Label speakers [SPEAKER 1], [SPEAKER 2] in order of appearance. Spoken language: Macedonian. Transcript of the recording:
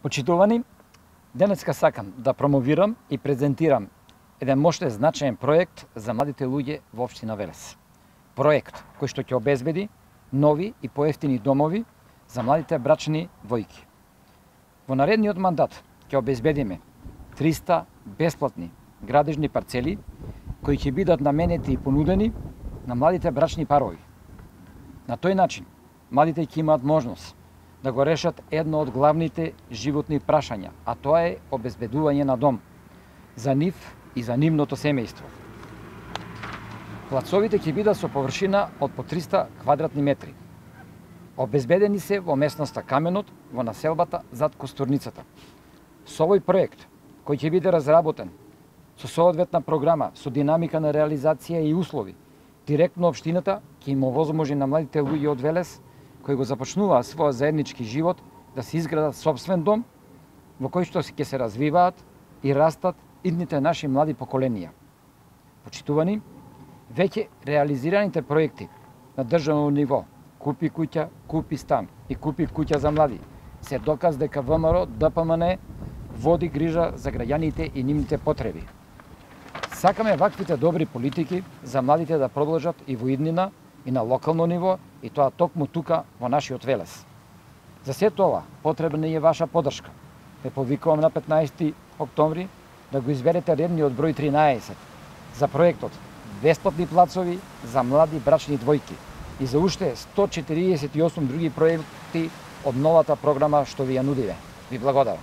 [SPEAKER 1] Почитувани, денеска сакам да промовирам и презентирам еден можда значаен проект за младите луѓе во општина Велес. Проект кој што ќе обезбеди нови и поевтини домови за младите брачни двојки. Во наредниот мандат ќе обезбедиме 300 бесплатни градежни парцели кои ќе бидат наменети и понудени на младите брачни парови. На тој начин, младите ќе имаат можност да го решат едно од главните животни прашања, а тоа е обезбедување на дом за нив и за нивното семејство. Плацовите ќе бидат со површина од по 300 квадратни метри. Обезбедени се во местноста Каменот, во населбата зад Костурницата. Со овој проект, кој ќе биде разработен со соодветна програма, со динамика на реализација и услови, директно општината ќе им овозможи на младите луѓе од Велес кои го започнуваат својот заеднички живот да се изградат сопствен дом во кој што ќе се развиваат и растат идните наши млади поколенија. Почитувани, веќе реализираните проекти на државно ниво Купи куќа, купи стан и купи куќа за млади се доказ дека ВМРО ДПМН води грижа за граѓаните и нивните потреби. Сакаме ваквите добри политики за младите да продолжат и во иднина и на локално ниво, и тоа токму тука во нашиот Велес. За сето ова потребна е ваша поддршка. Ве повикувам на 15 октомври да го изберете редниот број 13 за проектот бесплатни плацови за млади брачни двојки и за уште 148 други проекти од новата програма што ви ја нудиве. Ви благодарам.